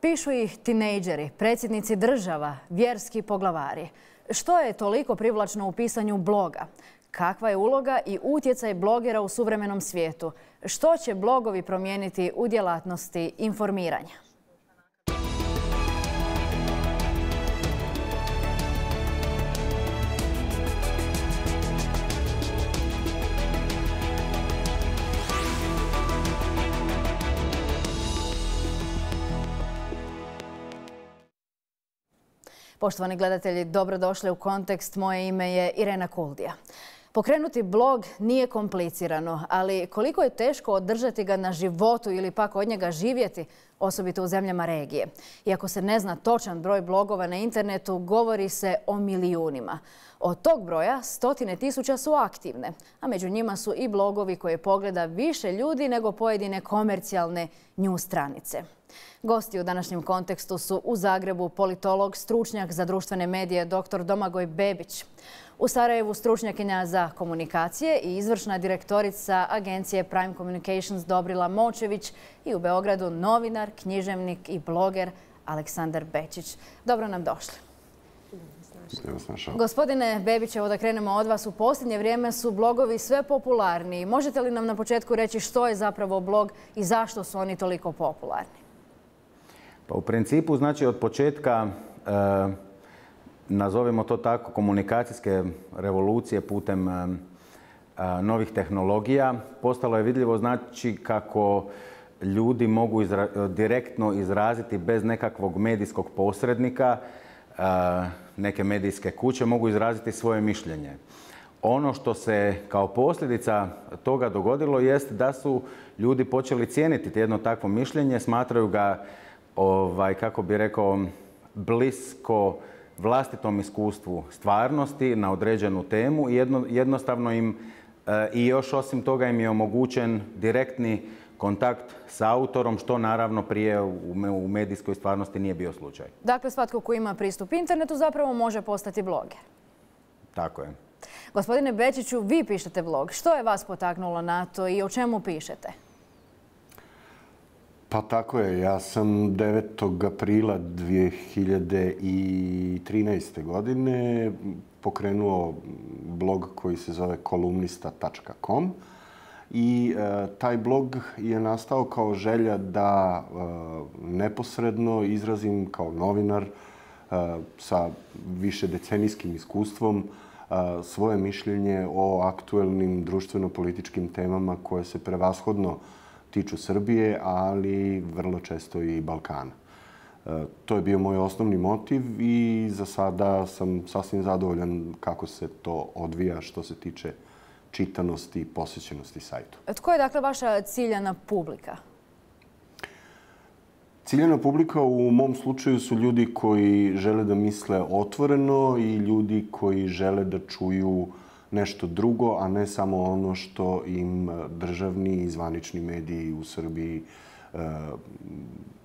Pišu ih tinejdžeri, predsjednici država, vjerski poglavari. Što je toliko privlačno u pisanju bloga? Kakva je uloga i utjecaj blogera u suvremenom svijetu? Što će blogovi promijeniti u djelatnosti informiranja? Poštovani gledatelji, dobrodošli u Kontekst. Moje ime je Irena Kuldija. Pokrenuti blog nije komplicirano, ali koliko je teško održati ga na životu ili pak od njega živjeti, osobito u zemljama regije. Iako se ne zna točan broj blogova na internetu, govori se o milijunima. Od tog broja stotine tisuća su aktivne, a među njima su i blogovi koje pogleda više ljudi nego pojedine komercijalne news stranice. Gosti u današnjem Kontekstu su u Zagrebu politolog, stručnjak za društvene medije dr. Domagoj Bebić, u Sarajevu stručnjakinja za komunikacije i izvršna direktorica agencije Prime Communications Dobrila Močević i u Beogradu novinar, književnik i bloger Aleksandar Bečić. Dobro nam došli. Gospodine Bebić, evo da krenemo od vas. U posljednje vrijeme su blogovi sve popularniji. Možete li nam na početku reći što je zapravo blog i zašto su oni toliko popularni? Pa u principu, znači od početka, nazovimo to tako, komunikacijske revolucije putem novih tehnologija, postalo je vidljivo znači kako ljudi mogu direktno izraziti bez nekakvog medijskog posrednika, neke medijske kuće mogu izraziti svoje mišljenje. Ono što se kao posljedica toga dogodilo jest da su ljudi počeli cijeniti jedno takvo mišljenje, smatraju ga, kako bi rekao, blisko vlastitom iskustvu stvarnosti na određenu temu i jednostavno im i još osim toga im je omogućen direktni kontakt s autorom, što naravno prije u medijskoj stvarnosti nije bio slučaj. Dakle, svatko ko ima pristup internetu zapravo može postati bloger. Tako je. Gospodine Bečiću, vi pišete blog. Što je vas potaknulo na to i o čemu pišete? Pa tako je. Ja sam 9. aprila 2013. godine pokrenuo blog koji se zove kolumnista.com. I taj blog je nastao kao želja da neposredno izrazim kao novinar sa višedecenijskim iskustvom svoje mišljenje o aktuelnim društveno-političkim temama koje se prevashodno tiču Srbije, ali vrlo često i Balkana. To je bio moj osnovni motiv i za sada sam sasvim zadovoljan kako se to odvija što se tiče čitanosti i posjećenosti sajtu. Tko je dakle vaša ciljana publika? Ciljana publika u mom slučaju su ljudi koji žele da misle otvoreno i ljudi koji žele da čuju nešto drugo, a ne samo ono što im državni i zvanični mediji u Srbiji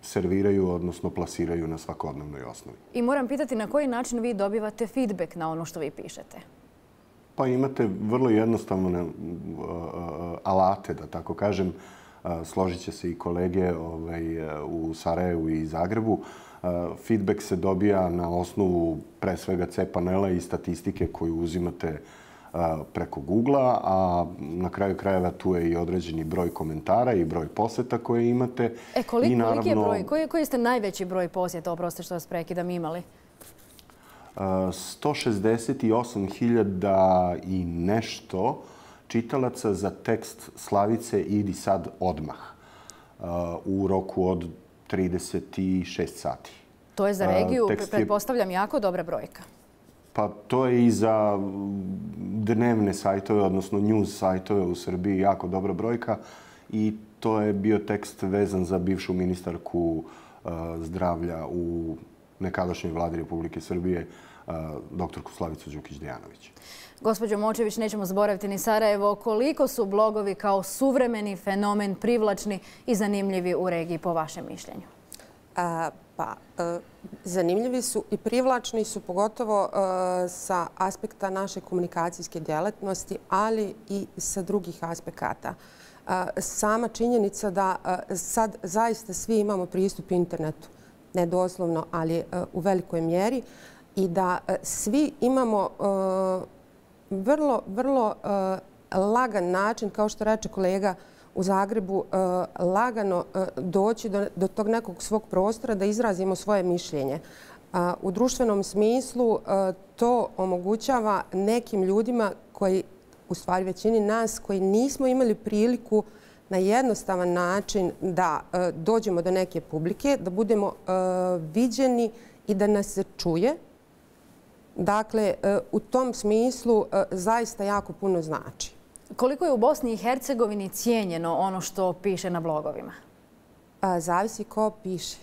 serviraju, odnosno plasiraju na svakodnevnoj osnovi. I moram pitati na koji način vi dobivate feedback na ono što vi pišete? Pa imate vrlo jednostavne alate, da tako kažem. Složit će se i kolege u Sarajevu i Zagrebu. Feedback se dobija na osnovu pre svega C-panela i statistike koju uzimate preko Google-a, a na kraju krajeva tu je i određeni broj komentara i broj posjeta koje imate. Koliki je broj? Koji ste najveći broj posjeta, oprostite što vas prekidam, imali? 168.000 i nešto čitalaca za tekst Slavice Idi sad odmah u roku od 36 sati. To je za regiju, pretpostavljam, jako dobra brojka. Pa to je i za dnevne sajtove, odnosno news sajtove u Srbiji jako dobra brojka i to je bio tekst vezan za bivšu ministarku zdravlja u nekadašnjoj vladi Republike Srbije, doktorku Slavicu Đukić-Dejanović. Gospođo Močević, nećemo zaboraviti ni Sarajevo. Koliko su blogovi kao suvremeni fenomen privlačni i zanimljivi u regiji, po vašem mišljenju? Zanimljivi su i privlačni su, pogotovo sa aspekta naše komunikacijske djelatnosti, ali i sa drugih aspekata. Sama činjenica da sad zaista svi imamo pristup internetu. ne doslovno, ali u velikoj mjeri, i da svi imamo vrlo lagan način, kao što reče kolega u Zagrebu, lagano doći do tog nekog svog prostora da izrazimo svoje mišljenje. U društvenom smislu to omogućava nekim ljudima koji, u stvari većini nas, koji nismo imali priliku na jednostavan način da dođemo do neke publike, da budemo viđeni i da nas se čuje. Dakle, u tom smislu zaista jako puno znači. Koliko je u Bosni i Hercegovini cijenjeno ono što piše na blogovima? Zavisi ko piše.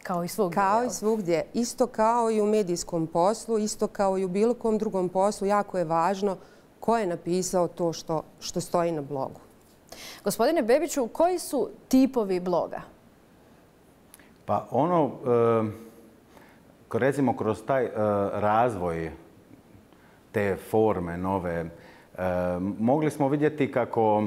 Kao i svugdje. Kao i svugdje. Isto kao i u medijskom poslu, isto kao i u bilo kom drugom poslu, jako je važno ko je napisao to što stoji na blogu. Gospodine Bebiću, koji su tipovi bloga? Pa ono, recimo kroz taj razvoj te forme nove, mogli smo vidjeti kako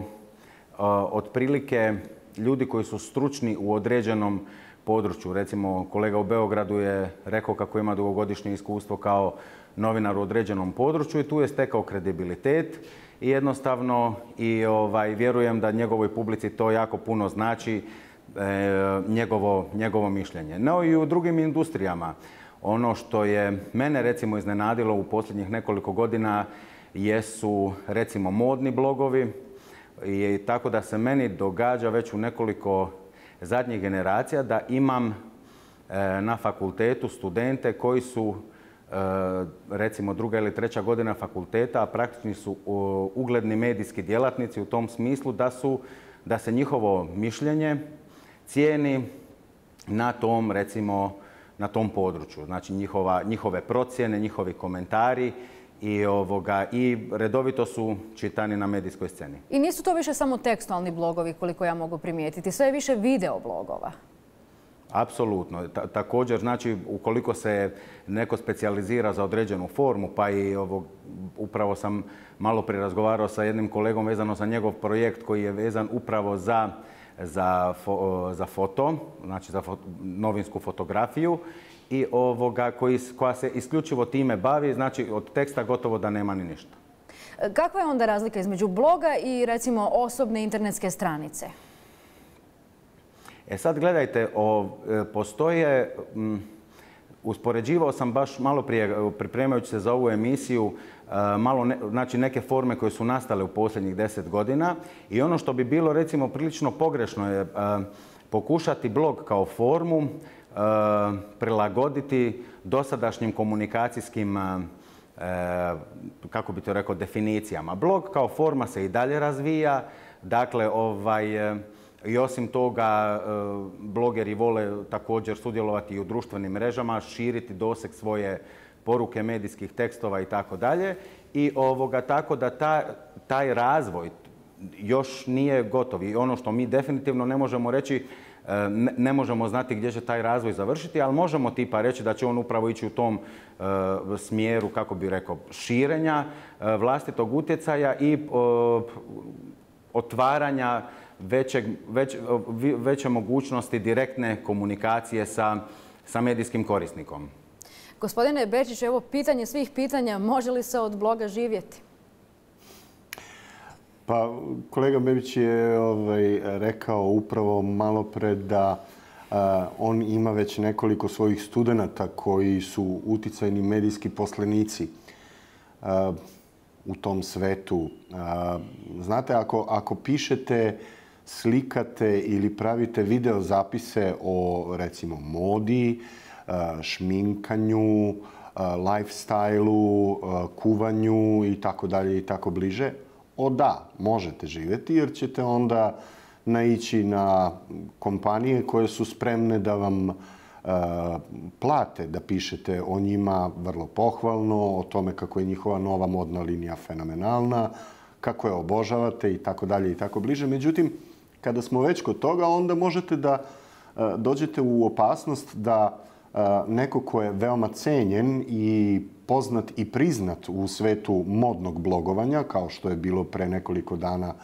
otprilike ljudi koji su stručni u određenom području, recimo kolega u Beogradu je rekao kako ima dugogodišnje iskustvo kao novinar u određenom području i tu je stekao kredibilitet i jednostavno vjerujem da njegovoj publici to jako puno znači, njegovo mišljenje. No i u drugim industrijama. Ono što je mene recimo iznenadilo u posljednjih nekoliko godina jesu recimo modni blogovi i tako da se meni događa već u nekoliko zadnjih generacija da imam na fakultetu studente koji su recimo 2. ili 3. godina fakulteta, a praktični su ugledni medijski djelatnici u tom smislu da se njihovo mišljenje cijeni na tom recimo na tom području. Znači njihove procjene, njihovi komentari i redovito su čitani na medijskoj sceni. I nisu to više samo tekstualni blogovi, koliko ja mogu primijetiti. Sve je više video blogova. Apsolutno. Također, znači, ukoliko se neko specijalizira za određenu formu, pa i upravo sam malo prije razgovarao sa jednim kolegom vezano za njegov projekt koji je vezan upravo za foto, znači za novinsku fotografiju i koja se isključivo time bavi, znači od teksta gotovo da nema ni ništa. Kakva je onda razlika između bloga i recimo osobne internetske stranice? Sad gledajte, postoje, uspoređivao sam baš malo prije pripremajući se za ovu emisiju, znači neke forme koje su nastale u posljednjih 10 godina i ono što bi bilo recimo prilično pogrešno je pokušati blog kao formu prilagoditi dosadašnjim komunikacijskim, kako bi to rekao, definicijama. Blog kao forma se i dalje razvija, dakle i osim toga blogeri vole također sudjelovati i u društvenim mrežama, širiti doseg svoje poruke medijskih tekstova i tako dalje. I tako da taj razvoj još nije gotov. I ono što mi definitivno ne možemo reći, ne možemo znati gdje će taj razvoj završiti, ali možemo tipa reći da će on upravo ići u tom smjeru, kako bi rekao, širenja vlastitog utjecaja i otvaranja veće mogućnosti direktne komunikacije sa medijskim korisnikom. Gospodine Bečić, evo pitanje svih pitanja, može li se od bloga živjeti? Pa kolega Bebić je rekao upravo malo pre da on ima već nekoliko svojih studenata koji su uticajni medijski poslenici u tom svetu. Znate, ako pišete, slikate ili pravite video zapise o recimo modi, šminkanju, lifestyle-u, kuvanju i tako dalje i tako bliže, da, možete živjeti jer ćete onda naići na kompanije koje su spremne da vam plate da pišete o njima vrlo pohvalno, o tome kako je njihova nova modna linija fenomenalna, kako je obožavate i tako dalje i tako bliže. Međutim, kada smo već kod toga, onda možete da dođete u opasnost da neko ko je veoma cenjen i poznat i priznat u svetu modnog blogovanja, kao što je bilo pre nekoliko dana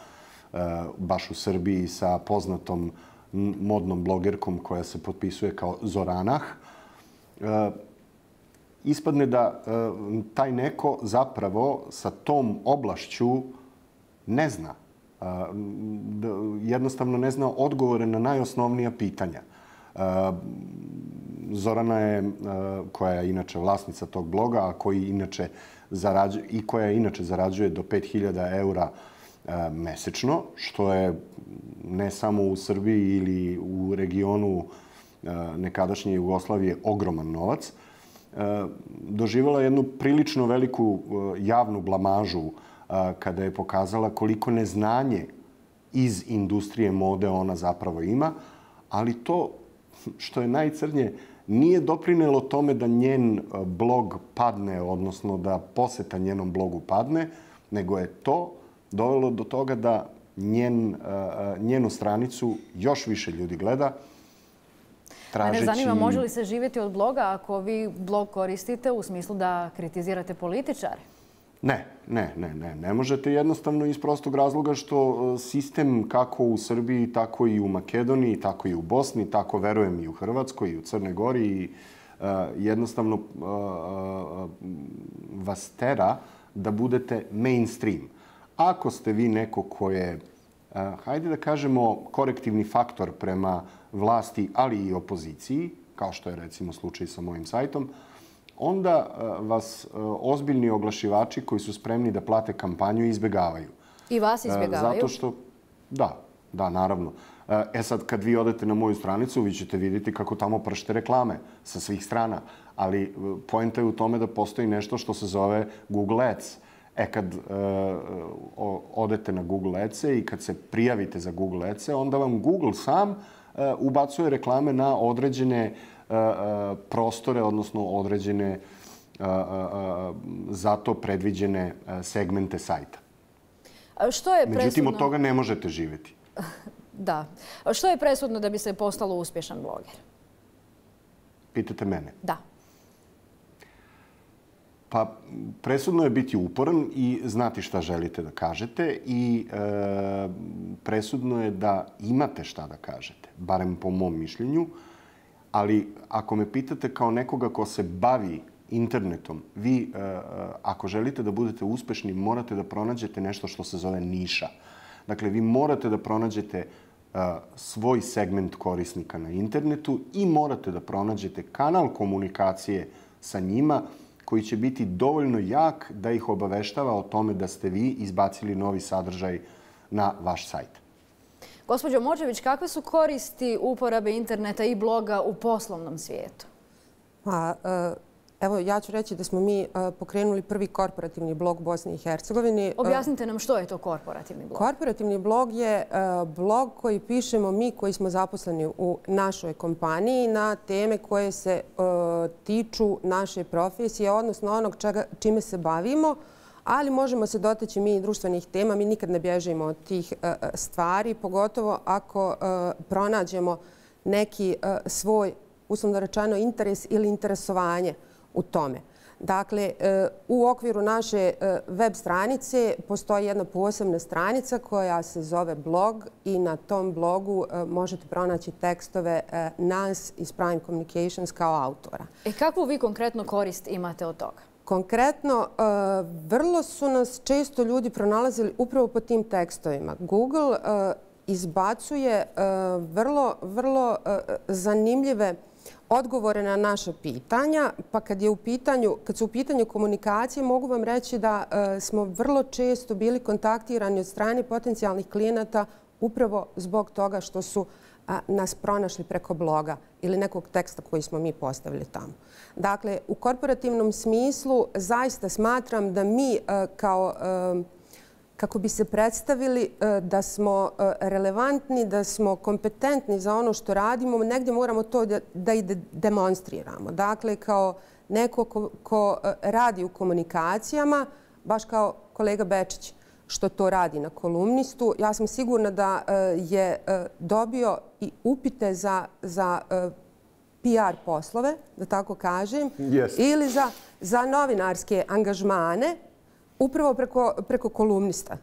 baš u Srbiji sa poznatom modnom blogerkom koja se potpisuje kao Zoranah, ispadne da taj neko zapravo sa tom oblašću ne zna. Jednostavno ne zna odgovore na najosnovnija pitanja. Zorana je, koja je inače vlasnica tog bloga, a koja inače zarađuje do 5.000 eura mesečno, što je ne samo u Srbiji ili u regionu nekadašnje Jugoslavije ogroman novac, doživjela jednu prilično veliku javnu blamažu kada je pokazala koliko neznanje iz industrije mode ona zapravo ima, ali to što je najcrnje nije doprinelo tome da njen blog padne, odnosno da poseta njenom blogu padne, nego je to dovelo do toga da njenu stranicu još više ljudi gleda. Mene zanima, može li se živjeti od bloga ako vi blog koristite u smislu da kritizirate političare? Ne možete, jednostavno iz prostog razloga što sistem kako u Srbiji, tako i u Makedoniji, tako i u Bosni, tako verujem i u Hrvatskoj i u Crnoj Gori, jednostavno vas tera da budete mainstream. Ako ste vi neko ko je, hajde da kažemo, korektivni faktor prema vlasti, ali i opoziciji, kao što je recimo slučaj sa mojim sajtom, onda vas ozbiljni oglašivači koji su spremni da plate kampanju izbjegavaju. I vas izbjegavaju? Zato što, da, naravno. Sad, kad vi odete na moju stranicu, vi ćete vidjeti kako tamo pršte reklame sa svih strana. Ali poenta je u tome da postoji nešto što se zove Google Ads. Kad odete na Google Ads-e i kad se prijavite za Google Ads-e, onda vam Google sam ubacuje reklame na određene prostore, odnosno određene za to predviđene segmente sajta. Međutim, od toga ne možete živjeti. Da. Što je presudno da bi se postalo uspješan bloger? Pitate mene? Da. Pa, presudno je biti uporan i znati šta želite da kažete i presudno je da imate šta da kažete, barem po mom mišljenju. Ali ako me pitate kao nekoga ko se bavi internetom, vi ako želite da budete uspešni, morate da pronađete nešto što se zove niša. Dakle, vi morate da pronađete svoj segment korisnika na internetu i morate da pronađete kanal komunikacije sa njima koji će biti dovoljno jak da ih obaveštava o tome da ste vi izbacili novi sadržaj na vaš sajt. Gospođo Močević, kakve su koristi uporabe interneta i bloga u poslovnom svijetu? Evo, ja ću reći da smo mi pokrenuli prvi korporativni blog u Bosni i Hercegovini. Objasnite nam što je to korporativni blog. Korporativni blog je blog koji pišemo mi koji smo zaposleni u našoj kompaniji na teme koje se tiču naše profesije, odnosno onog čime se bavimo, ali možemo se dotaći mi i društvenih tema. Mi nikad ne bježimo od tih stvari, pogotovo ako pronađemo neki svoj, uslovno rečeno, interes ili interesovanje u tome. Dakle, u okviru naše web stranice postoji jedna posebna stranica koja se zove blog i na tom blogu možete pronaći tekstove nas iz Prime Communications kao autora. Kakvu vi konkretno korist imate od toga? Konkretno, vrlo su nas često ljudi pronalazili upravo po tim tekstovima. Google izbacuje vrlo zanimljive odgovore na naša pitanja, pa kad su u pitanju komunikacije, mogu vam reći da smo vrlo često bili kontaktirani od strane potencijalnih klijenata upravo zbog toga što su nas pronašli preko bloga ili nekog teksta koji smo mi postavili tamo. Dakle, u korporativnom smislu zaista smatram da mi kako bi se predstavili da smo relevantni, da smo kompetentni za ono što radimo, negdje moramo to da i demonstriramo. Dakle, kao neko ko radi u komunikacijama, baš kao kolega Bečić što to radi na Kolumnistu, ja sam sigurna da je dobio i upite za PR poslove, da tako kažem, ili za novinarske angažmane, upravo preko Kolumnista.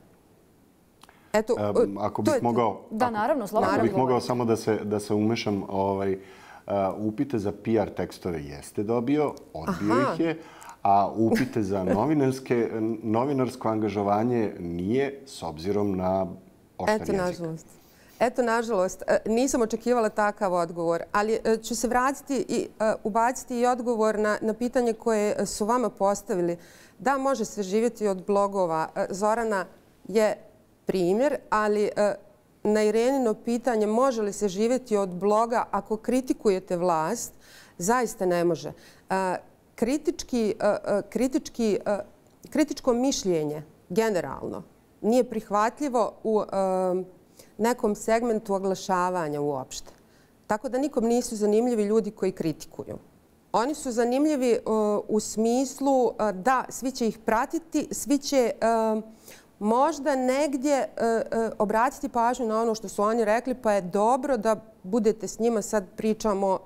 Ako bih mogao... Da, naravno, slobodno. Ako bih mogao samo da se umešam, upite za PR tekstove jeste dobio, odbio ih je, a upite za novinarsko angažovanje nije, s obzirom na oštar jezik. Eto, nažalost, nisam očekivala takav odgovor, ali ću se vratiti i ubaciti i odgovor na pitanje koje su vama postavili. Da, može se živjeti od blogova. Zorana je primjer, ali na Irenino pitanje može li se živjeti od bloga ako kritikujete vlast, zaista ne može. Kritičko mišljenje generalno nije prihvatljivo u nekom segmentu oglašavanja uopšte. Tako da nikom nisu zanimljivi ljudi koji kritikuju. Oni su zanimljivi u smislu da svi će ih pratiti, svi će možda negdje obratiti pažnju na ono što su oni rekli, pa je dobro da budete s njima, sad pričamo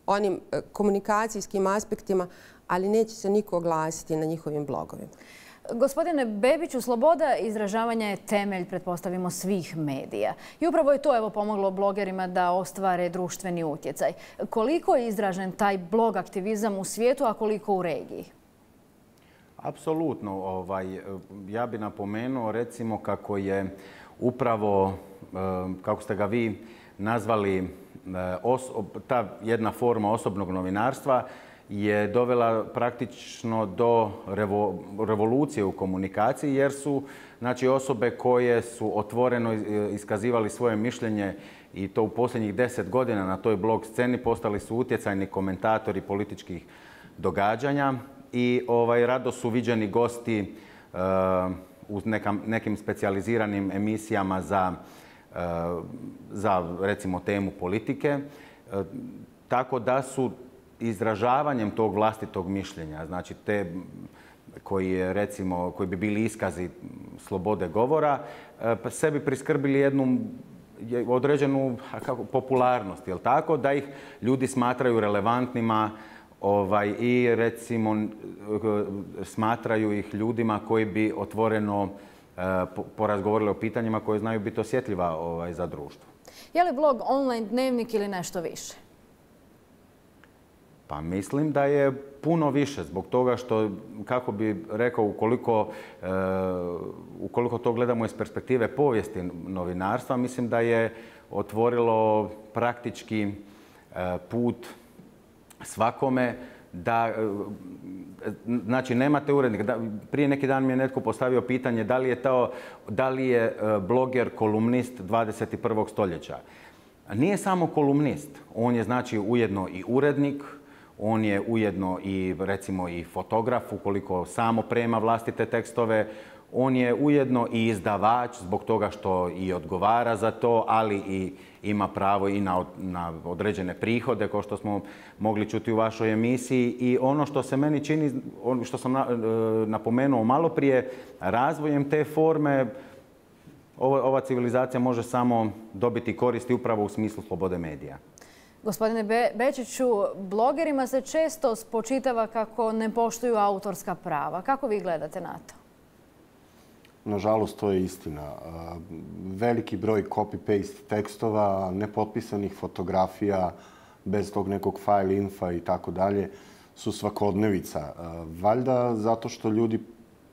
onim komunikacijskim aspektima, ali neće se niko oglasiti na njihovim blogovima. Gospodine Bebiću, sloboda izražavanja je temelj, pretpostavimo, svih medija. I upravo je to pomoglo blogerima da ostvare društveni utjecaj. Koliko je izražen taj blog aktivizam u svijetu, a koliko u regiji? Apsolutno. Ja bih napomenuo recimo kako je upravo, kako ste ga vi nazvali, ta jedna forma osobnog novinarstva je dovela praktično do revolucije u komunikaciji, jer su osobe koje su otvoreno iskazivali svoje mišljenje i to u posljednjih 10 godina na toj blog sceni postali su utjecajni komentatori političkih događanja i rado su viđeni gosti u nekim specijaliziranim emisijama za recimo temu politike. Tako da su izražavanjem tog vlastitog mišljenja, znači te koji bi bili iskazi slobode govora, sebi priskrbili jednu određenu popularnost, jel tako, da ih ljudi smatraju relevantnima i recimo smatraju ih ljudima koji bi otvoreno porazgovorili o pitanjima koje znaju biti osjetljiva za društvo. Je li blog online dnevnik ili nešto više? Pa mislim da je puno više zbog toga što, kako bi rekao, ukoliko to gledamo iz perspektive povijesti novinarstva, mislim da je otvorilo praktički put svakome da, znači nemate urednika. Prije neki dan mi je netko postavio pitanje da li je bloger kolumnist 21. stoljeća. Nije samo kolumnist, on je znači ujedno i urednik, on je ujedno i recimo i fotograf ukoliko samo prema vlastite tekstove. On je ujedno i izdavač zbog toga što i odgovara za to, ali i ima pravo i na određene prihode, kao što smo mogli čuti u vašoj emisiji. I ono što se meni čini, ono što sam napomenuo malo prije, razvojem te forme ova civilizacija može samo dobiti koristi upravo u smislu slobode medija. Gospodine Bečiću, blogerima se često spočitava kako ne poštuju autorska prava. Kako vi gledate na to? Nažalost, to je istina. Veliki broj copy-paste tekstova, nepotpisanih fotografija, bez tog nekog file infa i tako dalje, su svakodnevica. Valjda zato što ljudi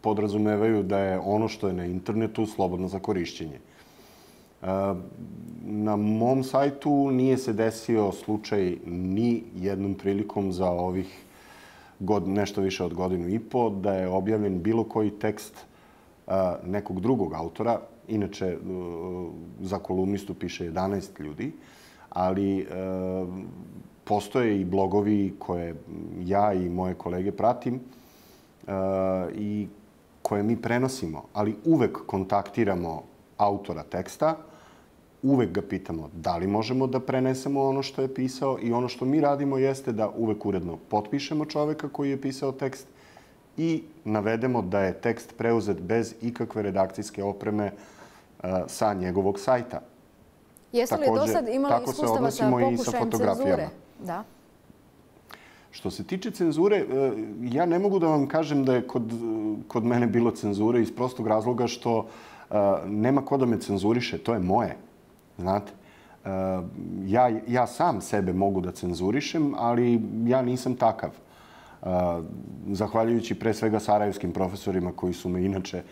podrazumevaju da je ono što je na internetu slobodno za korišćenje. Na mom sajtu nije se desio slučaj ni jednom prilikom za ovih nešto više od godinu i po da je objavljen bilo koji tekst nekog drugog autora. Inače, za kolumnistu piše 11 ljudi, ali postoje i blogovi koje ja i moje kolege pratim i koje mi prenosimo, ali uvek kontaktiramo autora teksta, uvek ga pitamo da li možemo da prenesemo ono što je pisao i ono što mi radimo jeste da uvek uredno potpišemo čoveka koji je pisao tekst i navedemo da je tekst preuzet bez ikakve redakcijske opreme sa njegovog sajta. Jeste li do sad imali iskustava sa pokušajem cenzure? Da. Što se tiče cenzure, ja ne mogu da vam kažem da je kod mene bilo cenzure iz prostog razloga što nema ko da me cenzuriše, to je moje. Znate, ja sam sebe mogu da cenzurišem, ali ja nisam takav. Zahvaljujući pre svega sarajevskim profesorima koji su me inače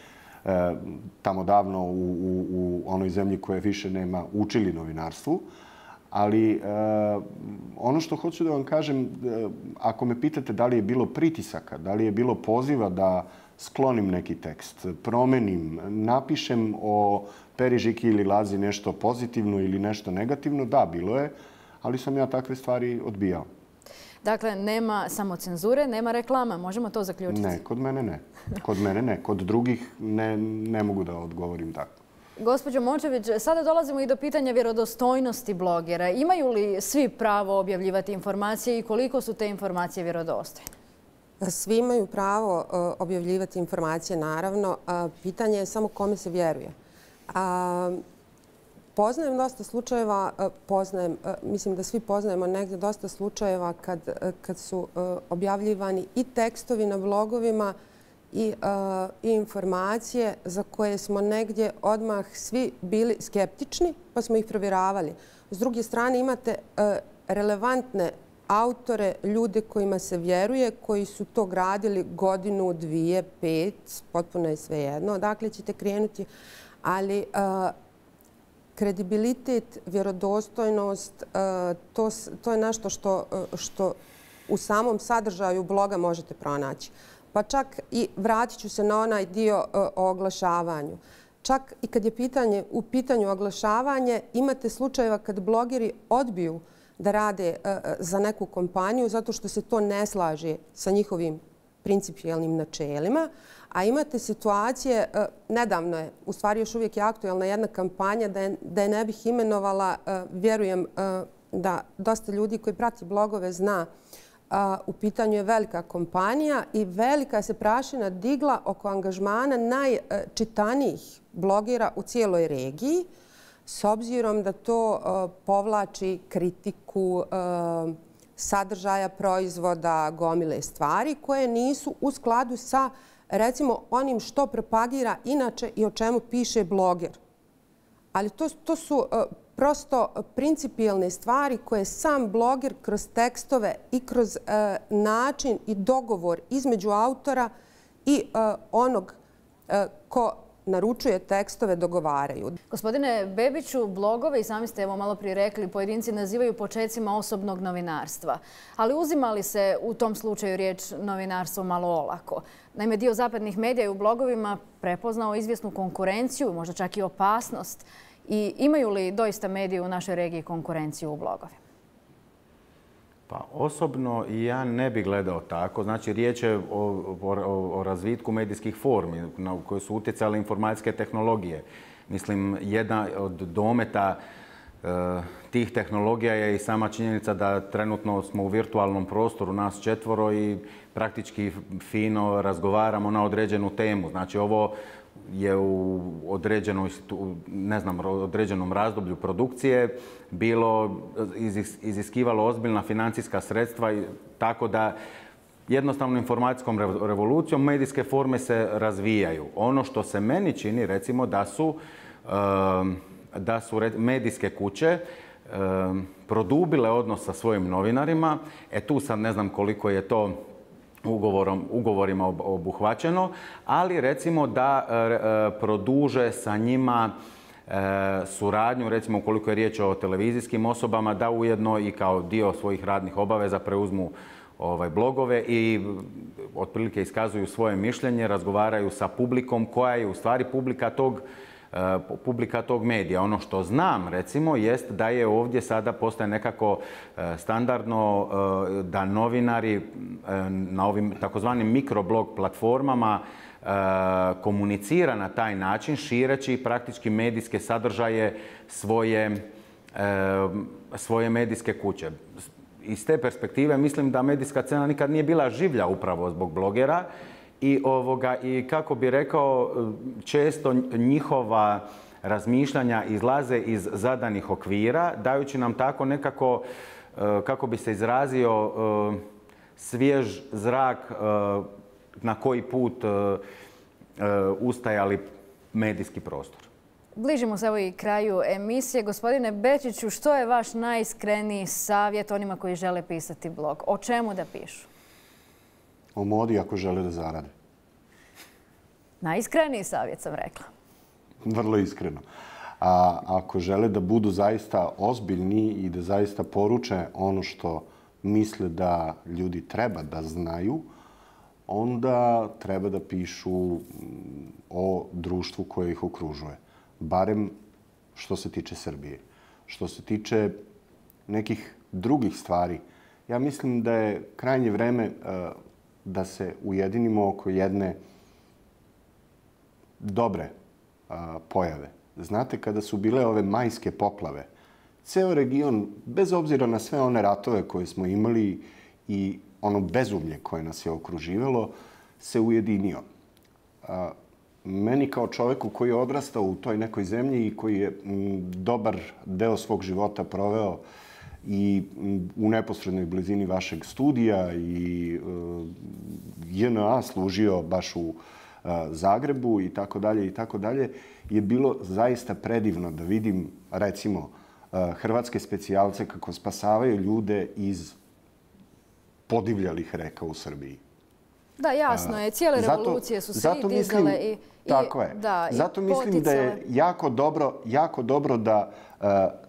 tamo davno u onoj zemlji koje više nema učili novinarstvu. Ali ono što hoću da vam kažem, ako me pitate da li je bilo pritisaka, da li je bilo poziva da sklonim neki tekst, promenim, napišem o Peri, Žiki ili Lazi nešto pozitivno ili nešto negativno, da, bilo je, ali sam ja takve stvari odbijao. Dakle, nema samo cenzure, nema reklama. Možemo to zaključiti? Ne, kod mene ne. Kod mene ne. Kod drugih ne mogu da odgovorim tako. Gospođo Mončević, sada dolazimo i do pitanja vjerodostojnosti blogera. Imaju li svi pravo objavljivati informacije i koliko su te informacije vjerodostojne? Svi imaju pravo objavljivati informacije, naravno. Pitanje je samo kome se vjeruje. Poznajem dosta slučajeva, mislim da svi poznajemo negdje dosta slučajeva kad su objavljivani i tekstovi na blogovima i informacije za koje smo negdje odmah svi bili skeptični, pa smo ih provjeravali. S druge strane imate relevantne autore, ljude kojima se vjeruje, koji su to gradili godinu, 2, 5, potpuno je svejedno. Dakle, ćete krenuti, ali kredibilitet, vjerodostojnost, to je nešto što u samom sadržaju bloga možete pronaći. Pa čak i vratit ću se na onaj dio o oglašavanju. Čak i kad je u pitanju oglašavanje, imate slučajeva kad blogeri odbiju da rade za neku kompaniju zato što se to ne slaže sa njihovim principijelnim načelima, a imate situacije, nedavno je, u stvari još uvijek je aktualna jedna kampanja, da je ne bih imenovala, vjerujem da dosta ljudi koji prati blogove zna, u pitanju je velika kompanija i velika se prašina digla oko angažmana najčitanijih blogera u cijeloj regiji, s obzirom da to povlači kritiku sadržaja proizvoda, gomile stvari koje nisu u skladu sa, recimo, onim što propagira inače i o čemu piše bloger. Ali to su prosto principijelne stvari koje sam bloger kroz tekstove i kroz način i dogovor između autora i onog ko naručuje tekstove dogovaraju. Gospodine Bebiću, blogove, i sami ste evo malo prije rekli, pojedinci nazivaju počecima osobnog novinarstva. Ali uzima li se u tom slučaju riječ novinarstvo malo olako? Naime, dio zapadnih medija je u blogovima prepoznao izvjesnu konkurenciju, možda čak i opasnost. I imaju li doista mediji u našoj regiji konkurenciju u blogovima? Pa osobno ja ne bih gledao tako. Znači, riječ je o razvitku medijskih formi na koje su utjecale informacijske tehnologije. Mislim, jedna od dometa tih tehnologija je i sama činjenica da trenutno smo u virtualnom prostoru, nas 4 i praktički fino razgovaramo na određenu temu. Znači, ovo je u određenom razdoblju produkcije bilo iziskivalo ozbiljna financijska sredstva, tako da jednostavno informacijskom revolucijom medijske forme se razvijaju. Ono što se meni čini, recimo, da su medijske kuće produbile odnos sa svojim novinarima. Tu sad ne znam koliko je to ugovorima obuhvaćeno, ali recimo da produže sa njima suradnju, recimo ukoliko je riječ o televizijskim osobama, da ujedno i kao dio svojih radnih obaveza preuzmu blogove i otprilike iskazuju svoje mišljenje, razgovaraju sa publikom koja je u stvari publika tog medija. Ono što znam, recimo, jest da je ovdje sada postaje nekako standardno da novinari na ovim takozvanim mikroblog platformama komunicira na taj način, šireći praktički medijske sadržaje svoje medijske kuće. Iz te perspektive mislim da medijska scena nikad nije bila življa upravo zbog blogera i kako bi rekao, često njihova razmišljanja izlaze iz zadanih okvira, dajući nam tako nekako, kako bi se izrazio, svjež zrak na koji put ustajali medijski prostor. Bližimo se evo i kraju emisije. Gospodine Bečiću, što je vaš najiskreniji savjet onima koji žele pisati blog? O čemu da pišu? O modi ako žele da zarade. Najiskreniji savjet sam rekla. Vrlo iskreno. A ako žele da budu zaista ozbiljni i da zaista poruče ono što misle da ljudi treba da znaju, onda treba da pišu o društvu koje ih okružuje. Barem što se tiče Srbije. Što se tiče nekih drugih stvari, ja mislim da je krajnje vreme da se ujedinimo oko jedne dobre pojave. Znate, kada su bile ove majske poplave, ceo region, bez obzira na sve one ratove koje smo imali i ono bezumlje koje nas je okruživalo, se ujedinio. Meni kao čoveku koji je odrastao u toj nekoj zemlji i koji je dobar deo svog života proveo i u neposrednoj blizini vašeg studija i JNA služio baš u Zagrebu i tako dalje, je bilo zaista predivno da vidim, recimo, hrvatske specijalce kako spasavaju ljude iz podivljalih reka u Srbiji. Da, jasno je. Cijele revolucije su se i dizale i tako je. Zato mislim da je jako dobro da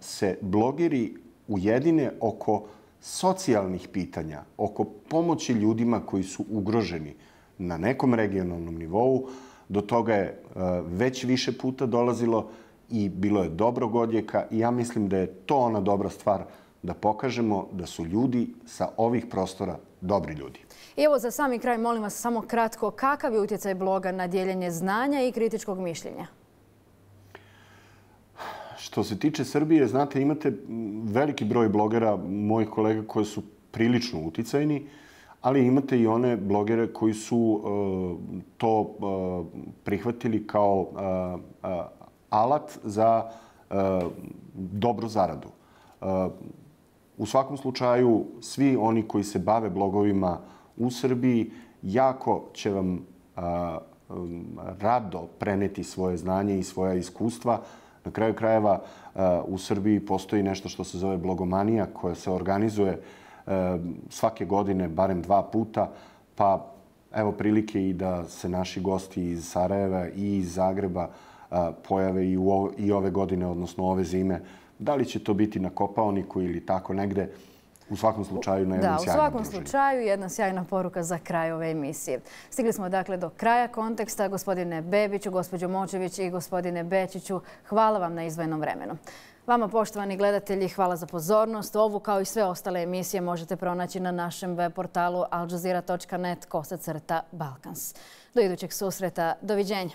se blogeri ujedine oko socijalnih pitanja, oko pomoći ljudima koji su ugroženi na nekom regionalnom nivou. Do toga je već više puta dolazilo i bilo je dobrog odjeka i ja mislim da je to ona dobra stvar da pokažemo da su ljudi sa ovih prostora dobri ljudi. I evo za sami kraj, molim vas samo kratko, kakav je utjecaj bloga na dijeljenje znanja i kritičkog mišljenja? Što se tiče Srbije, znate, imate veliki broj blogera, mojih kolega koji su prilično uticajni, ali imate i one blogere koji su to prihvatili kao alat za dobru zaradu. U svakom slučaju, svi oni koji se bave blogovima u Srbiji jako će vam rado preneti svoje znanje i svoja iskustva. Na kraju krajeva u Srbiji postoji nešto što se zove blogomanija koja se organizuje svake godine barem 2 puta, pa evo prilike i da se naši gosti iz Sarajeva i iz Zagreba pojave i ove godine, odnosno ove zime. Da li će to biti na Kopaoniku ili tako negde, u svakom slučaju na jednom sjajnom druženju. Da, u svakom slučaju jedna sjajna poruka za kraj ove emisije. Stigli smo dakle do kraja konteksta. Gospodine Bebiću, gospođo Močević i gospodine Bečiću, hvala vam na izdvojenom vremenu. Vama, poštovani gledatelji, hvala za pozornost. Ovu kao i sve ostale emisije možete pronaći na našem web portalu aljazeera.net/Balkans. Do idućeg susreta. Doviđenja.